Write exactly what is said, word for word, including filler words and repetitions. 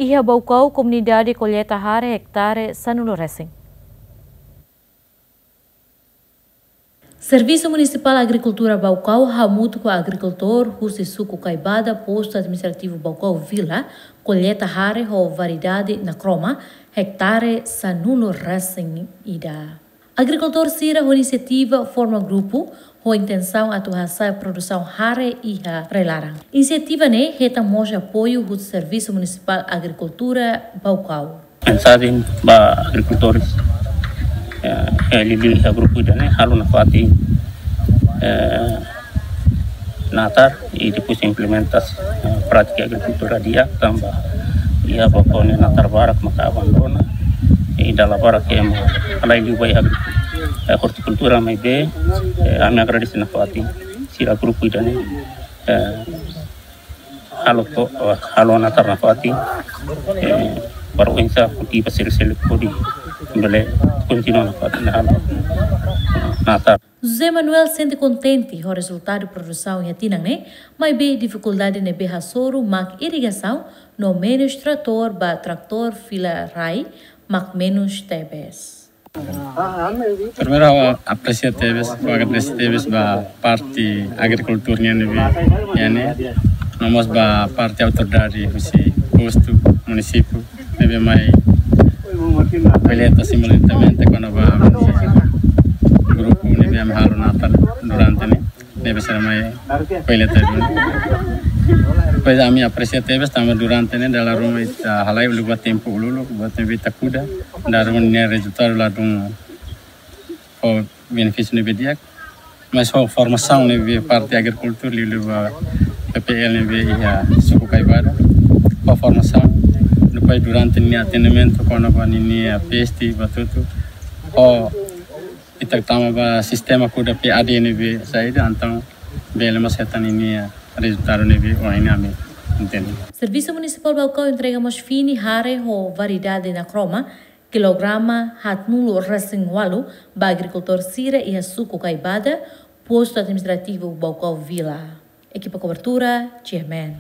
Iha Baucau, komunidade kolleita hare hektare sanulu resin. Servisu Munisipál Agrikultura Baucau hamutuk ho agrikultór husi suku Kaibada, postu administrativu Baucau Vila, kolleita hare ho variedade Nakroma, hektare sanulu resin ida. Agrikultór sira ho inisiativa forma grupu ho intensaun atu hasa'e produsaun hare iha rai-laran. Inisiativa ne'e hetan mós apoiu husi Servisu Munisipál Agrikultura Baucau. Mensajen ba agrikultór, eh, eh, liuliu iha grupu ida-ne'e, halo nafatin, eh, natar i depois implementa, eh, prátika agrikultura di'ak, tanba iha Baucau ne'e natar barak maka abandona, i dala barak ema halai liu ba iha agri-, eh, ortikultura, maibé, eh, ami agradese nafatin sira grupu ida-ne'e, eh, halo to, eh, halo natar nafatin, eh, para oinsá kultiva sira seluk hodi bele kontinua nafatin halo, eh, natar. José Manuel sente kontente ho rezultadu produsaun iha tinan ne'e, maibé difikuldade ne'ebé hasoru mak irrigasaun no menus tratór ba tratór fila rai mak menus tebes. Primeiru, ha'u apresia tebes, ha'u agradese tebes ba parte agrikultór nian ne'ebé iha ne'e, no mós ba parte autoridade husi postu, munisípiu, ne'ebé mai kolleita simultaneamente kona-ba grupu ne'ebé ami halo natar durante ne'e, ne'ebé sira mai kolleita duni. Depois ami apresia tebes tanba durante ne'e dala ruma ita halai uluk ba tempu uluk, buat ne'ebé ita kuda, dala ruma nia rezultadu ladún fó benefísiu ne'ebé di'ak, mas ho formasaun ne'ebé parte agrikultura liuliu ba P P L ne'ebé iha suku Kaibada, ho formasaun, depois durante nia atendimentu kona-ba ninia peste ba tutu, ho ita tama ba sistema kuda P A D ne'ebé saida, entaun bele mós hetan ninia rezultadu ne'ebé ohin ami hatene. Servisu Munisipál Baucau entrega mós fini hare ho variedade Nakroma, kilograma haatnulu resin ualu, ba agrikultór sira iha suku Kaibada, postu administrativu Baucau Vila. Ekipa kobertura, G M N.